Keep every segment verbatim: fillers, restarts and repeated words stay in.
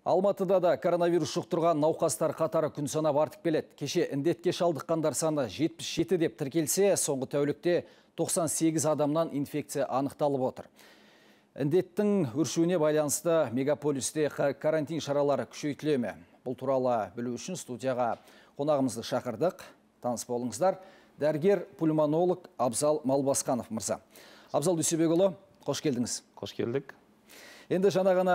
Алматыда да коронавирус жұқтырған науқастар қатары күн санап артып келеді. Кеше індетке шалдыққандар саны жетпіс жеті деп тіркелсе, соңғы тәулікте тоқсан сегіз адамнан инфекция анықталып отыр. Індеттің өршуіне байланысты мегаполисте карантин шаралары күшейтіле ме? Бұл туралы білу үшін студияға қонағымызды шақырдық. Таныс болыңыздар. Дәрігер пульмонолог Абзал Малбасқанов мырза. Абзал Дүйсебекұлы, қош келдіңіз. Қош келдік. Енді жаңа ғана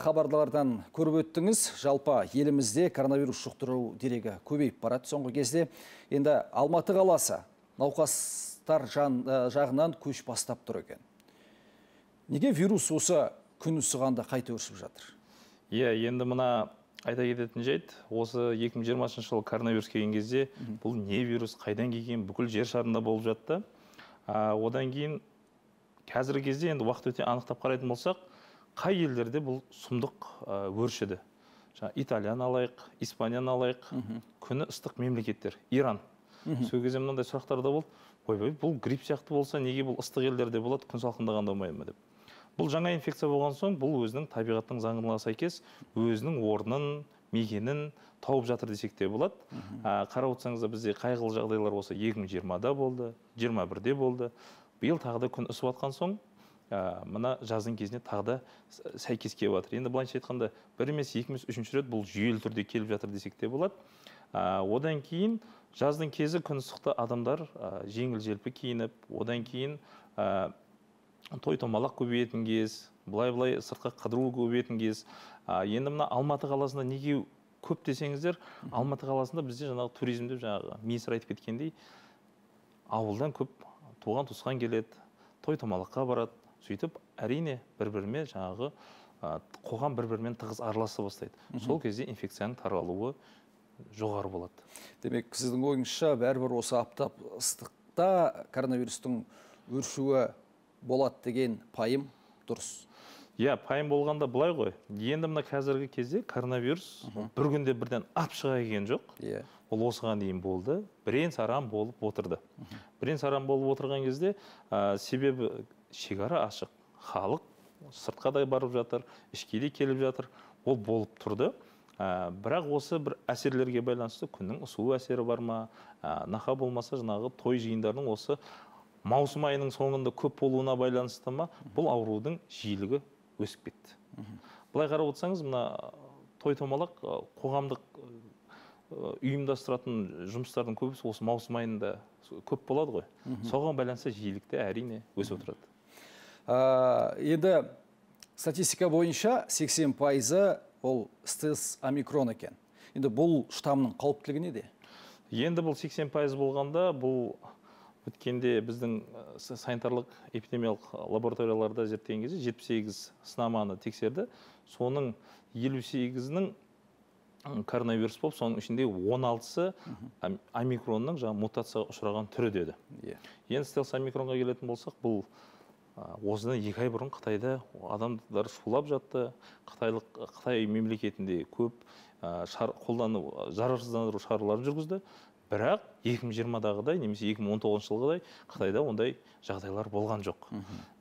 хабарлардан көріп өттіңіз, жалпы елімізде коронавирус жұқтыру дерегі көбейіп барады соңғы кезде. Енді Алматы қаласы науқастар жағынан көш бастап тұр екен. Неге вирус осы күн ысығанда қайта өршіп жатыр? Иә, енді мына айта кететін жайт, осы екі мың жиырмасыншы жылы коронавирус келген кезде бұл не вирус, қайдан келген, бүкіл жер шарында болып жатты. Одан кейін қазіргі кезде енді уақыт өте анықтап қарайтын болсақ, қай елдерде бұл сұмдық өршіді. Италияны алайық, Испанияны алайық, күні ыстық мемлекеттер, Иран. Сол кезде мынандай сұрақтар да болды. Ой, бұл грипп сияқты болса, неге бұл ыстық елдерде болады, күн салқындағанда болмай ма деп. Бұл жаңа инфекция болған соң, бұл өзінің табиғаттың заңына сәйкес өзінің орнын, мекенін тауып жатыр десек те болады. Қарап отырсаңыздар, бізде қайғылы жағдайлар осы екі мың жиырмада болды, жиырма бірде болды. Биыл тағы да күн ысып жатқан соң, мына жаздың кезіне тағы да сәйкес келіп жатыр. Енді былайша айтқанда, бір емес, екі емес, үшінші рет бұл жүйелі түрде келіп жатыр десек те болады. Одан кейін жаздың кезі күн ыстықта адамдар жеңіл-желпі киініп, одан кейін той-томалақ көбейетін кез, былай-былай сыртқа қыдыру көбейетін кез. Енді мына Алматы қаласында неге көп десеңіздер, Алматы қаласында бізде жаңағы туризмде жаңағы министр айтып кеткендей, ауылдан көп туған туысқан келеді, той-томалаққа барады. Сөйтіп, әрине бір-бірімен жаңағы қоғам бір-бірімен тығыз араласа бастайды. Сол кезде инфекцияның таралуы жоғары болады. Демек, сіздің ойыңызша бәрібір осы аптап ыстықта коронавирустың өршуі болады деген пайым дұрыс. Иә, пайым болғанда былай ғой. Енді мына қазіргі кезде коронавирус бір күнде бірден ап шыға келген жоқ. Ол осыған дейін болды. Бірен саран болып отырды. Бірен саран болып отырған кезде себебі шекара ашық, халық сыртқа да барып жатыр, ішке де келіп жатыр, ол болып тұрды. Бірақ осы бір әсерлерге байланысты күннің ысуы әсері бар ма, нақа болмаса жаңағы той жиындарының осы маусым айының соңында көп болуына байланысты ма, бұл аурудың жиілігі өсіп кетті. Былай қарап отырсаңыз, мына той-томалақ қоғамдық ұйымдастыратын жұмыстардың көбісі осы маусым айында көп болады ғой. Соған байланысты жиілікті әрине өсіп отырады. Енді статистика бойынша сексен пайызы ол стелс омикрон екен. Енді бұл штамның қауіптілігі неде? Енді бұл сексен пайыз болғанда, бұл өткенде біздің санитарлық эпидемиялық лабораторияларда зерттеген кезде жетпіс сегіз сынаманы тексерді. Соның елу сегізінің коронавирус болып, соның ішінде он алтысы омикронның мутацияға ұшыраған түрі деді. Енді стелс омикронға келетін болсақ, бұл осыдан екі ай бұрын Қытайда адамдар шулап жатты. Қытай мемлекетінде көп қолдану, зарарсыздандыру шараларын жүргізді. Бірақ екі мың жиырмадағыдай, немесе екі мың он тоғызыншы жылғыдай Қытайда ондай жағдайлар болған жоқ.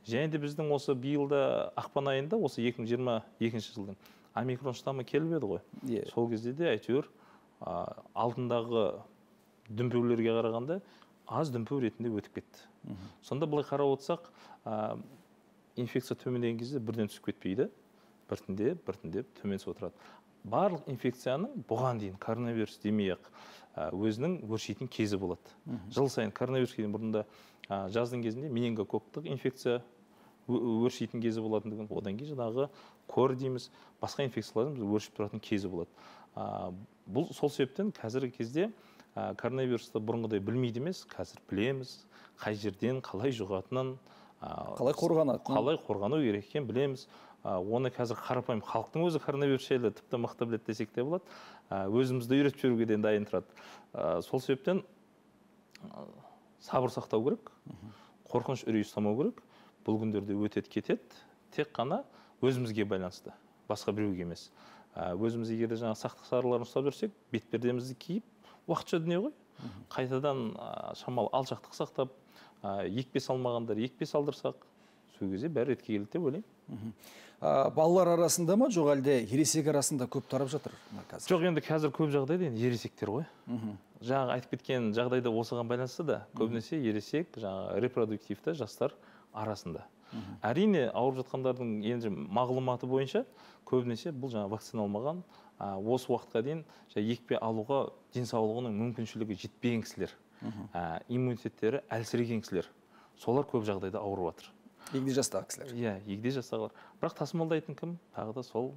Және де біздің осы биылда ақпан айында, осы екі мың жиырма екінші жылдың омикрон штамы келіп еді ғой. Сол кезде де әйтеуір алдындағы дүмпулерге қарағанда аз дүмпу ретінде өтіп кетті. Сонда былай қарап отырсақ, инфекция төмендеген кезде бірден түсіп кетпейді, біртіндеп, біртіндеп төмен түсіп отырады. Барлық инфекцияның бұған дейін коронавирус демей-ақ өзінің өршитін кезі болады. Жыл сайын коронавирус келген бұрында жаздың кезінде менингококктық инфекция өршитін кезі болатындығын, одан кейін жаңағы кор дейміз, басқа инфекциялардың өршіп тұратын кезі болады. Бұл сол себептен қазіргі кезде коронавирусты бұрынғыдай білмейді емес, қазір білеміз, қай жерден қалай жұғатынын, қалай қорғанатынын, қалай қорғану керек екенін білеміз. Оны қазір қарапайым халықтың өзі коронавирус жайлы тіпті мықты біледі десек те болады. Өзімізді үйретіп жіберуге де дайын тұрады. Сол себептен сабыр сақтау керек, қорқыныш үрей ұстамау керек. Бұл күндерде өтеді кетеді, тек қана өзімізге байланысты, басқа біреуге емес. Өзіміз егер де жаңа сақтық шараларын ұстап жүрсек, бетпердемізді киіп, уақытша дүние ғой. Қайтадан шамалы алшақтық сақтап, екпе салмағандар екпе салдырсақ, жетіспеген кезде бәрі ретке келді деп ойлаймын. Балалар арасында ма, жоқ әлде ересек арасында көп тарап жатыр қазір? Жоқ, енді қазір көп жағдайда енді ересектер ғой. Жаңағы айтып кеткен жағдайда осыған байланысты да көбінесе ересек, жаңағы репродуктивті жастар арасында. Әрине ауырып жатқандардың енді мағлұматы бойынша көбінесе бұл жаңа вакциналмаған, осы уақытқа дейін екпе алуға денсаулығының мүмкіншілігі жетпеген кісілер, иммунитеттері әлсіреген кісілер, солар көп жағдайда ауырып жатыр. Егде жастағы кісілер. Иә, егде жастағылар. Бірақ тасымалдайтын кім? Тағы да сол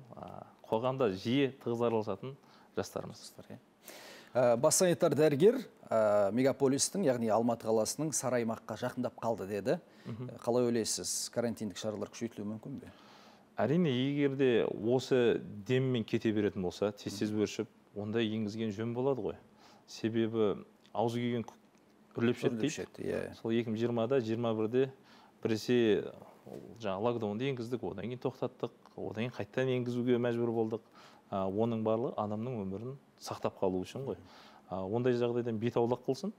қоғамда жиі тығыз араласатын жастарымыз. Бас санитар дәрігер мегаполистің, яғни Алматы қаласының сары аймаққа жақындап қалды деді. Қалай ойлайсыз, карантиндік шаралар күшейтілуі мүмкін бе? Әрине, егерде осы деммен кете беретін болса, тез-тез өршіп, онда енгізген жөн болады ғой. Себебі аузы күйген үрлеп шет дейді. Сол екі мың жиырмада, жиырма бірде біресе жаңа локдаунды енгіздік, одан кейін тоқтаттық, одан кейін қайттан енгізуге мәжбүр болдық. Оның барлығы адамның өмірін сақтап қалу үшін ғой. Ондай жағдайдан бет аулақ қылсын.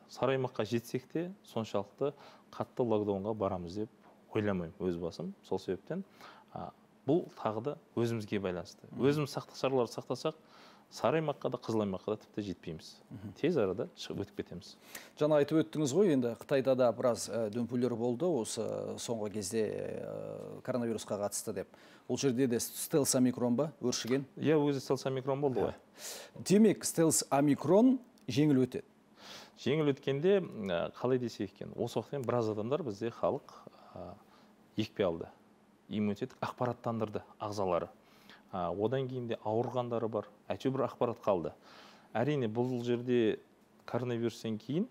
Сары аймаққа жетсек те соншалықты қатты локдаунға барамыз деп ойламаймын өз басым. Сол себептен бұл тағы да өзімізге байланысты. Өзіміз сақтық шараларды сақтасақ, сары аймаққа да, қызыл аймаққа да тіпті жетпейміз. Тез арада шығып өтіп кетеміз. Жаңа айтып өттіңіз ғой, енді Қытайда да біраз дүмпулер болды осы соңғы кезде коронавирусқа қатысты деп. Ол жерде де стелс омикрон ба өршіген? Иә, өзі стелс омикрон болды ғой. Демек, стелс омикрон жеңіл өтеді. Жеңіл өткенде қалай десек екен, осы уақыттан біраз адамдар бізде халық екпе алды. Иммунитет ақпараттандырды ағзалары. Одан кейін де ауырғандары бар, әйтеуір бір ақпарат қалды. Әрине, бұл жерде коронавирустен кейін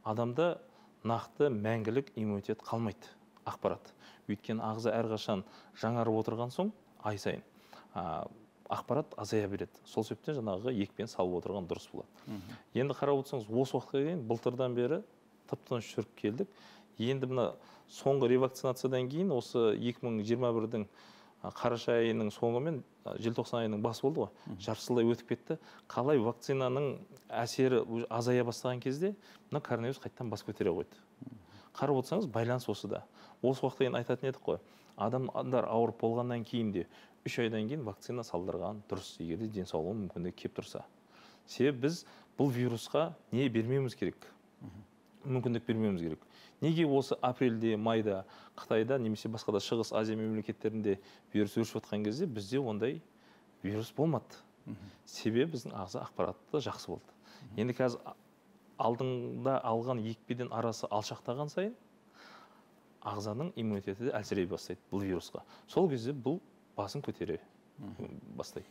адамда нақты мәңгілік иммунитет қалмайды, ақпарат. Өйткені ағза әрқашан жаңарып отырған соң, ай сайын ақпарат азая береді. Сол себептен жаңағы екпені салып отырған дұрыс болады. Енді қарап отырсаңыз, осы уақытқа дейін былтырдан бері тып-тыныш жүріп келдік. Енді мына соңғы ревакцинациядан кейін осы екі мың жиырма бірдің қараша айының соңы мен желтоқсан айының басы болды ғой. Жарты өтіп кетті. Қалай вакцинаның әсері азая бастаған кезде, мына коронавирус қайттан бас көтере қойды. Қарап отырсаңыз, байланыс осыда. Осы уақытта енді айтатын едік қой. Адамдар ауырып болғаннан кейін де үш айдан кейін вакцина салдырған дұрыс, егерде денсаулығы мүмкіндігі кеп тұрса. Себебі біз бұл вирусқа не бермеуіміз керек? Мүмкіндік бермеуіміз керек. Неге осы апрельде, майда, Қытайда, немесе басқа да Шығыс Азия мемлекеттерінде вирус өршіп жатқан кезде бізде ондай вирус болмады. Себебі біздің ағза ақпараты жақсы болды. Енді қазір алдыңда алған екпеден арасы алшақтаған сайын ағзаның иммунитеті де әлсірей бастайды бұл вирусқа. Сол кезде бұл басын көтере бастайды.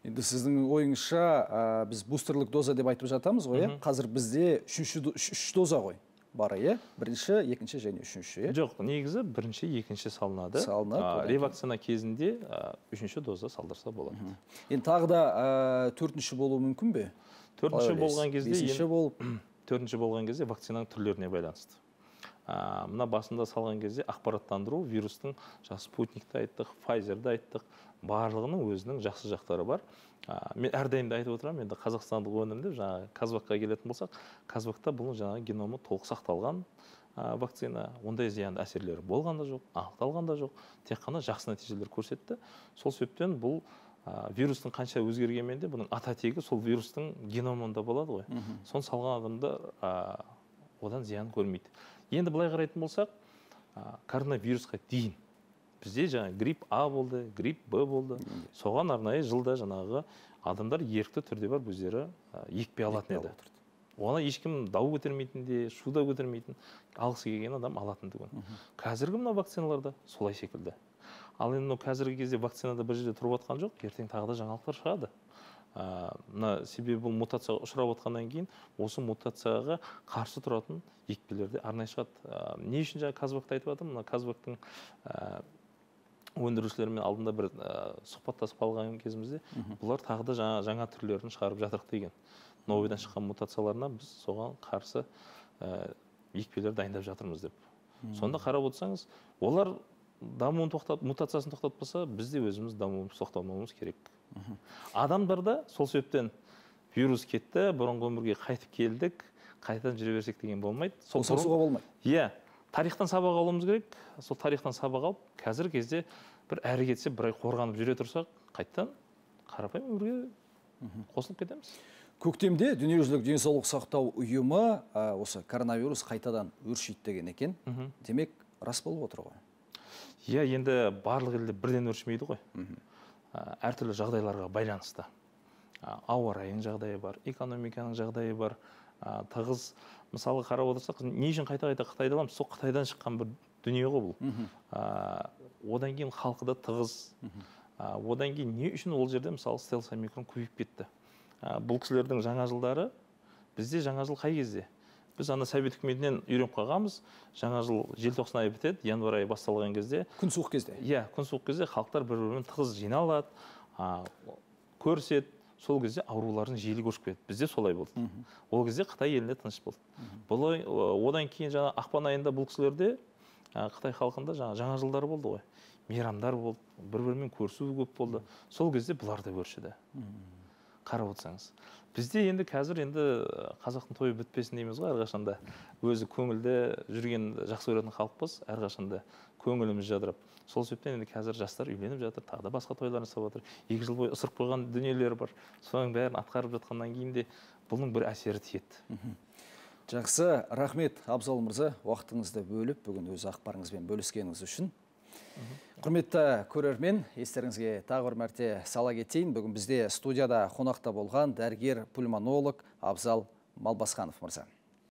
Енді сіздің ойыңызша біз бустерлік доза деп айтып жатамыз ғой, қазір бізде үш доза ғой бары, е? Бірінші, екінші және үшінші, е? Жоқ, негізі бірінші, екінші салынады. Ревакцина кезінде үшінші доза салдырса болады. Енді тағы да төртінші болуы мүмкін бе? Төртінші болған кезде, бесінші болып, төртінші болған кезде вакцинаның түрлеріне байланысты. Мына басында салған кезде ақпараттандыру вирустың, спутникті айттық, Pfizer'ді айттық, барлығының өзінің жақсы жақтары бар. Мен әрдайым да айтып отырамын, енді қазақстандық өнімді, жаңағы Казвакқа келетін болсақ, Казвакта бұның жаңағы геномы толық сақталған вакцина, ондай зиянды әсерлері болған да жоқ, анықталған да жоқ, тек қана жақсы нәтижелер көрсетті. Сол себептен бұл вирустың қанша өзгергенмен де бұның ата тегі сол вирустың геномында болады ғой. Соны салған адамдар одан зиян көрмейді. Енді былай қарайтын болсақ, коронавирусқа дейін бізде жаңағы грипп А болды, грипп Б болды. Соған арнайы жылда жаңағы адамдар ерікті түрде бар өздері екпе алатын еді. Оны ешкім дау көтермейтін де, шу да көтермейтін, алғысы келген адам алатын түгін. Қазіргі мына вакциналарда солай секілді. Ал енді қазіргі кезде вакцинада бір жерде тұрып жатқан жоқ, ертең тағы да жаңалықтар шығады. Себебі бұл мутацияға ұшырап отқаннан кейін осы мутацияға қарсы тұратын екпелерде арнайы шығады. Не үшін жаңа Казвакты айтып жатырмын? Мына Казвактың өндірушілермен алдында бір сұхбаттасып қалған кезімізде бұлар тағы да жаңа түрлерін шығарып жатырық деген. Новыйдан шыққан мутацияларына біз соған қарсы екпелер дайындап жатырмыз деп. Сонда қарап отырсаңыз, олар дамуын тоқтап, мутациясын тоқтатпаса, біз де өзіміз дамуымыз тоқтамауымыз керек. Адамдарда сол себептен вирус кетті, бұрынғы өмірге қайтып келдік, қайтадан жүре берсек деген болмайды. Қосылуға болмайды. Иә, тарихтан сабақ алуымыз керек. Сол тарихтан сабақ алып, қазіргі кезде бір әрі кетсе, бір ай қорғанып жүре тұрсақ, қайттан қарапайым өмірге қосылып кетеміз. Көктемде дүниежүзілік денсаулық сақтау ұйымы осы коронавирус қайтадан өршиді деген екен. Демек, рас болып отыр ғой. Иә, енді барлық елде бірден өршімейді ғой. Әртүрлі жағдайларға байланысты. Ауа райының жағдайы бар, экономиканың жағдайы бар. Тығыз, мысалы қарап отырсақ, не үшін қайта-қайта Қытайды аламыз? Сол Қытайдан шыққан бір дүние ғой бұл. Одан кейін халқы да тығыз. Одан кейін не үшін ол жерде мысалы стелс омикрон көбейіп кетті? Бұл кісілердің жаңа жылдары, бізде жаңа жыл қай кезде? Біз ана Совет үкіметінен үйреніп қалғанбыз. Жаңа жыл желтоқсан айы бітеді, январ айы басталған кезде. Күн суық кезде. Иә, күн суық кезде халықтар бір-бірімен тығыз жиналады, көріседі. Сол кезде аурулардың жиілігі өсіп кетті. Бізде солай болды. Ол кезде Қытай елінде тыныш болды. Одан кейін жаңа ақпан айында бұл кісілерде Қытай халқында жаңа жылдар болды ғой. Мейрамдар болды, бір-бірімен көрісу көп болды. Сол кезде бұлар да өршіді. Қарап отырсаңыз. Бізде енді қазір енді қазақтың тойы бітпесін дейміз ғой, әрқашанда. Өзі көңілді жүрген жақсы көретін халықпыз, әрқашанда көңіліміз жадырап. Сол себептен енді қазір жастар үйленіп жатыр, тағы да басқа тойлар жасап жатыр. Екі жыл бойы ысырып қойған дүниелер бар. Соның бәрін атқарып жатқаннан кейін де бұның бір әсері тиеді. Жақсы, рахмет Абзал мырза, уақытыңызды бөліп, бүгін өз ақпарыңызбен бөліскеніңіз үшін. Құрметті көрермен, естеріңізге тағы бір мәрте сала кетейін. Бүгін бізде студияда қонақта болған дәрігер пульмонолог Абзал Малбасқанов мырза.